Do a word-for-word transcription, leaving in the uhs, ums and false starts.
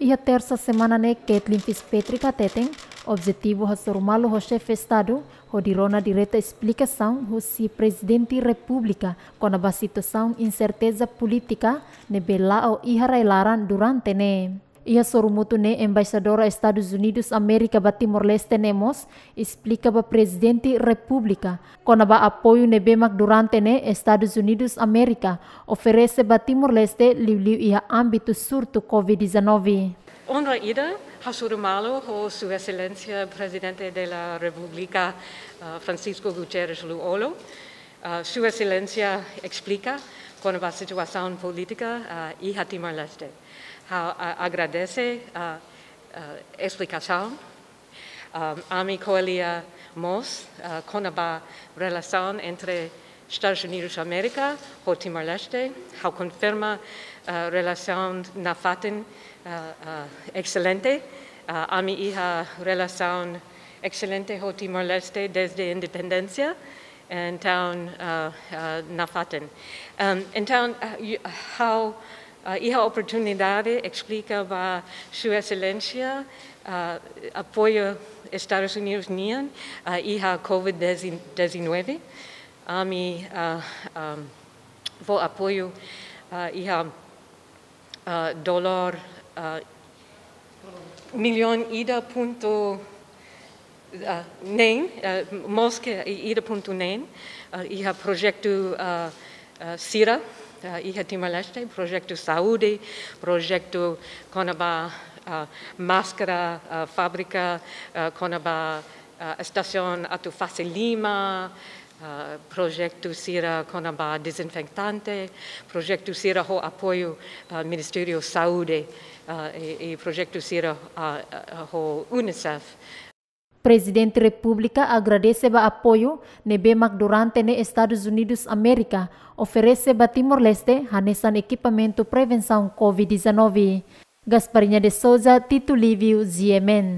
Iha tersa semana ne'e, Kathleen Fitzpatrick hateten, objetivu hasoru malu ho xefe Estadu hodi rona direta esplikasaun husi Prezidente Repúblika kona-ba situasaun inserteza polítika ne'ebé la'o iha rai-laran durante ne'e. Iha sorumutu ne'e, Embaixadora Estadus Unidus Amérika ba Timor-Leste ne'e mós esplika ba Prezidente Repúblika kona-ba apoiu ne'ebé mak durante ne'e Estadus Unidus Amérika oferese ba Timor-Leste liuliu iha ámbitu surtu Covid dezanove. Onra ida hasoru malu ho Sua Exelénsia Prezidente da Repúblika, ah, Francisco Guterres Lú-Olo. Ah, Sua Exelénsia esplika kona-ba situasaun polítika, ah, iha Timor-Leste. Ha'u, ah, agradese, ah, ah, esplikasaun. Ah, ami ko'alia mós, ah, kona-ba relasaun entre Estadus Unidus Amérika ho Timor-Leste. Ha'u konfirma, ah, relasaun nafatin, ah, ah, exelente. Ah, ami iha relasaun exelente ho Timor-Leste dezde independénsia. Entaun, ah, ah, nafatin. Em, entaun, ah, yu-, ha'u, ah, iha oportunidade esplika ba Sua Exelénsia, ah, apoiu Estadus Unidus nian, ah, iha Covid dezanove. Ami, ah, em, fó apoiu, ah, iha, ah, dolór, ah, millaun ida pontu, ah, neen, ah, mós ke ida pontu neen, ah, iha projetu, ah, ah, sira, ah, iha Timor-Leste, projetu saúde, projetu kona-ba, ah, máskara, ah, fábrika, ah, kona-ba, ah, estasaun atu fase lima, ah, projetu sira kona-ba dezinfetante, projetu sira ho apoiu, ah, Ministériu Saúde, ah, i, i projetu sira, ah, ah, ho UNICEF. Prezidente Repúblika agradese ba apoiu ne'ebé mak durante ne'e Estadus Unidus Amérika oferese ba Timor-Leste hanesan ekipamentu prevensaun Covid dezanove. Gasparinha de Souza, Tito Lívio, G M N.